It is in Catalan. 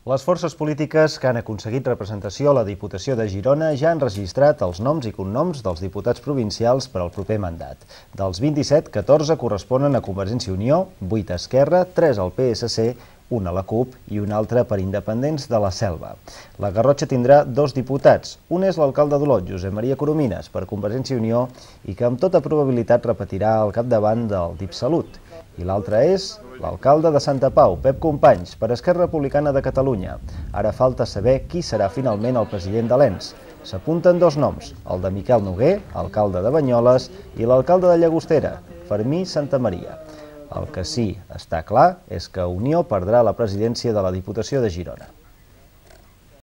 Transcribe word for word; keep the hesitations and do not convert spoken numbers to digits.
Les forces polítiques que han aconseguit representació a la Diputació de Girona ja han registrat els noms i cognoms dels diputats provincials per al proper mandat. Dels vint-i-set, catorze corresponen a Convergència i Unió, vuit a Esquerra, tres al P S C, un a la CUP i un altre per Independents de la Selva. La Garrotxa tindrà dos diputats. Un és l'alcalde d'Olot, Josep Maria Coromines, per Convergència i Unió i que amb tota probabilitat repetirà al capdavant del DipSalut. I l'altre és l'alcalde de Santa Pau, Pep Companys, per Esquerra Republicana de Catalunya. Ara falta saber qui serà finalment el president de l'E N S. S'apunten dos noms, el de Miquel Noguer, alcalde de Banyoles, i l'alcalde de Llagostera, Fermí Santamaria. El que sí està clar és que Unió perdrà la presidència de la Diputació de Girona.